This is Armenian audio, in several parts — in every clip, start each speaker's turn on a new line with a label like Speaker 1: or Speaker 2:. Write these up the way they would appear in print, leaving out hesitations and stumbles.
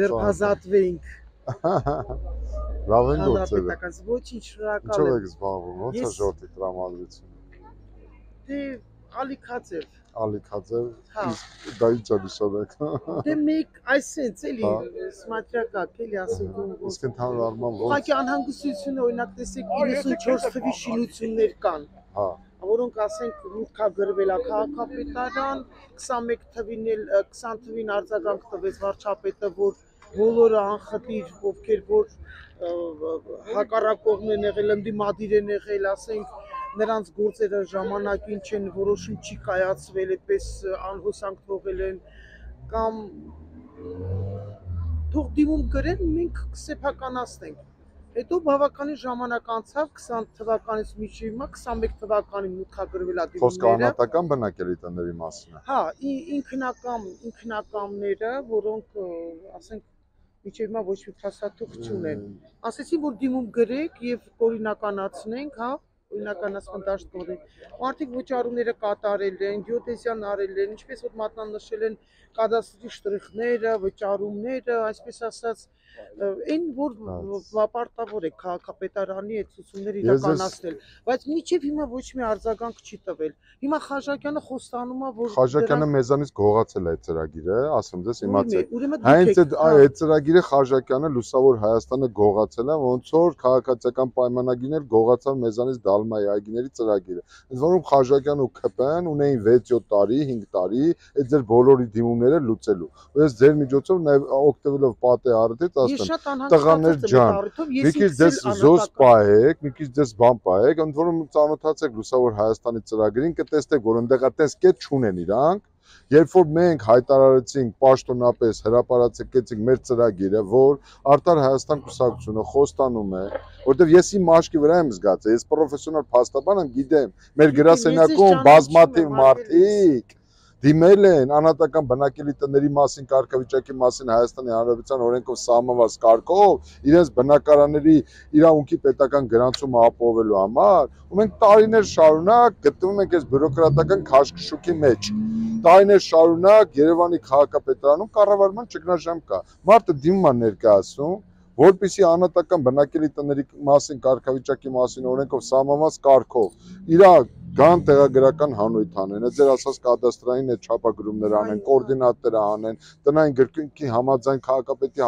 Speaker 1: ձեր ազատվեինք։
Speaker 2: Լավ են գործել։
Speaker 1: Ոչինչ, շնորհակալ
Speaker 2: Ինչով
Speaker 1: եմ։
Speaker 2: եք զբաղվում, ո՞նց է ժողովրդի տրամադրությունը։
Speaker 1: Դե Ալիքաձև։
Speaker 2: Ալիքաձև, իսկ դա ինչ է նշանակում։
Speaker 1: Դե մեկ այսենց էլի սմատրակակ էլի ասենք ու
Speaker 2: Իսկ ընդհանուր առմամբ ո՞նց։
Speaker 1: Ուղղակի անհանգստություն օրինակ տեսեք 94 թվի շինություններ կան։
Speaker 2: Հա։
Speaker 1: Որոնք ասենք մուտքագրվել է քաղաքապետարան, 21 թվին էլ 20 թվին արձագանք տվեց վարչապետը, որ բոլորը անխտիր, ովքեր որ հակառակողն են եղել, ընդդիմադիր են եղել, ասենք նրանց գործերը ժամանակին չեն որոշում չի կայացվել, այդպես անհոսանք թողել են կամ թող դիմում գրեն, մենք կսեփականացնենք։ Հետո բավականին ժամանակ անցավ 20 թվականից մինչև հիմա 21 թվականին մուտքագրվել է դիմումները։
Speaker 2: Խոսքը անհատական բնակելի տների մասին է։
Speaker 1: Հա, ինքնականները, որոնք ասենք մինչև հիմա ոչ մի փաստաթուղթ չունեն։ Ասեցին, որ դիմում գրեք եւ օրինականացնենք, հա, օրինականացման դաշտ կողմեն։ Մարդիկ վճարումները կատարել են, գեոդեզիան արել են, ինչպես որ մատնանշել են կադաստրի շտրիխները, վճարումները, այսպես ասած, այն որ պարտավոր է քաղաքապետարանի այդ ցուցումները իրականացնել, բայց մինչև հիմա ոչ մի արձագանք չի տվել։ Հիմա Խաչակյանը խոստանում է, որ
Speaker 2: Խաչակյանը մեզանից գողացել է այդ ծրագիրը, ասեմ ձեզ իմացեք։ Հենց այդ ծրագիրը Խաչակյանը լուսավոր Հայաստանը գողացել է, ոնց որ քաղաքացիական պայմանագիրն էլ գողացավ մեզանից Դալմայի այգիների ծրագիրը։ Ընդ որում Խաչակյանը ու ՔՊ-ն ունեին 6-7 տարի, 5 տարի այդ ձեր բոլորի դիմումները լուծելու։ Ու ես ձեր միջոցով նաև օգտվելով պատե արդից ասեմ, տղաներ ջան, մի քիչ դες զոս պահեք, մի քիչ դες բան պահեք, ընդ որում ծանոթացեք լուսավոր Հայաստանի ծրագրին, կտեսնեք, որ ընդեղա տես կետ չունեն իրանք։ Երբ որ մենք հայտարարեցինք պաշտոնապես հրապարակեցինք մեր ծրագիրը, որ Արդար Հայաստան կուսակցությունը խոստանում է, որտեղ ես իմ մաշկի վրա եմ զգացել, ես պրոֆեսիոնալ փաստաբան եմ, գիտեմ, մեր գրասենյակում բազմաթիվ մարդիկ դիմել են անհատական բնակելի տների մասին, կարգավիճակի մասին Հայաստանի Հանրապետության օրենքով սահմանված կարգով իրենց բնակարանների իրավունքի պետական գրանցումը ապահովելու համար, ու մենք տարիներ շարունակ գտնվում ենք այս բյուրոկրատական քաշքշուկի մեջ։ Տարիներ շարունակ Երևանի քաղաքապետարանում կառավարման ճգնաժամ կա։ Մարդը դիմում է ներկայացնում, որպեսզի անհատական բնակելի տների մասին, կարգավիճակի մասին օրենքով սահմանված կարգով իր գան տեղագրական հանույթ անեն, այդ ձեր ասած կադաստրային այդ չափագրումներ անեն, կոորդինատներ անեն, տնային գրքույկի համաձայն քաղաքապետի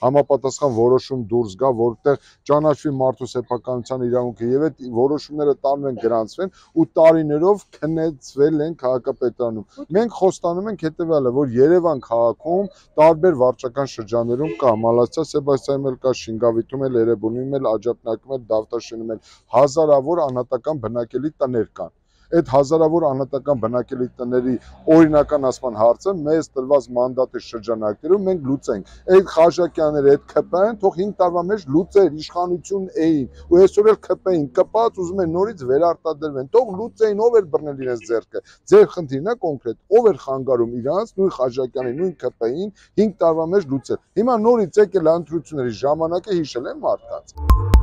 Speaker 2: համապատասխան որոշում դուրս գա, որտեղ ճանաչվի մարդու սեփականության իրավունքը եւ այդ որոշումները տանում են գրանցվեն ու տարիներով քննեցվել են քաղաքապետարանում։ Մենք խոստանում ենք հետեւյալը, որ Երևան քաղաքում տարբեր վարչական շրջաններում կա Մալացիա Սեբաստիանում էլ կա, Շինգավիթում էլ, Էրեբունիում էլ, Աջափնյակում էլ, Դավթաշենում էլ հազարավոր անհատական բնակելի տներ կան։ Այդ հազարավոր անհատական բնակելի տների օրինականացման հարցը մեզ տրված մանդատի շրջանակներում մենք լուծենք։ Այդ Խաչակյանները, այդ ՔՊ-ն թող 5 տարվա մեջ լուծեր, իշխանություն էին, ու այսօր էլ ՔՊ-ին կպած ուզում են նորից վերարտադրվեն, թող լուծեին, ով էր բռնել իրենց ձեռքը։ Ձեր խնդիրն է կոնկրետ, ով էր խանգարում իրանց, նույն Խաչակյանի, նույն ՔՊ-ին 5 տարվա մեջ լուծել։ Հիմա նորից եկել ընտրությունների ժամանակը հիշել են մարդկանց։